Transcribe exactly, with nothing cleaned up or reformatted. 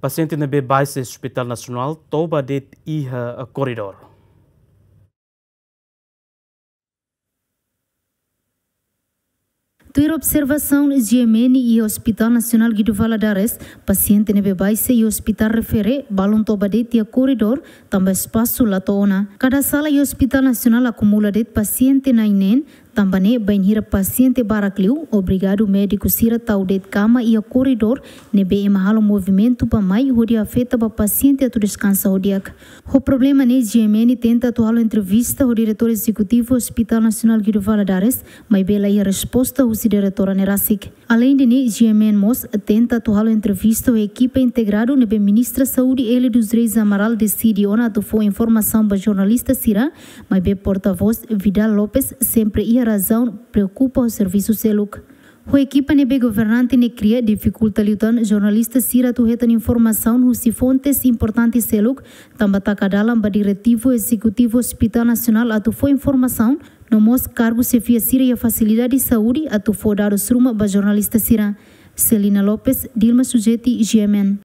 Pasiente ne'ebé baixa iha Hospital Nasionál toba de'it iha koridór. Tuir observasaun GMN iha Hospital Nasionál Guido Valadares, pasiente ne'ebé baixa iha ospitál refere balun toba de'it iha koridór, tanba espasu la to'o ona. Kada sala iha Hospital Nasionál akumula de'it pasiente na'in-neen, tanba ne'e bainhira pasiente barak liu, obrigadu médiku sira tau de'it kama iha koridór, ne'ebé ema halo movimentu bá-mai hodi afeta ba pasiente atu deskansa ho di'ak. Ho problema ne'e GMN tenta atu halo entrevista ho Diretór Ezekutivu Hospital Nasionál Guido Valadares, maibé la iha resposta husi diretora ne'e rasik. Aleinde ne'e, GMN mós tenta atu halo entrevista ho ekipa integradu ne'ebé Ministra Saúde Élia dos Reis Amaral deside ona atu fó informasaun ba jornalista sira, maibé portavós Vidal Lopes sempre iha razaun preokupa ho servisu seluk. Ho ekipa ne'ebé governante ne'e kria difikulta liután jornalista sira atu hetan informasaun husi fontes importante seluk, tanba taka dalan ba Diretivu Ezekutivu Hospital Nasionál atu fó informasaun, no mós kargu xefia sira iha fasilidade saúde atu fó dadus ruma ba jornalista sira. Celina Lopes, Dilma Sujeti, GMN.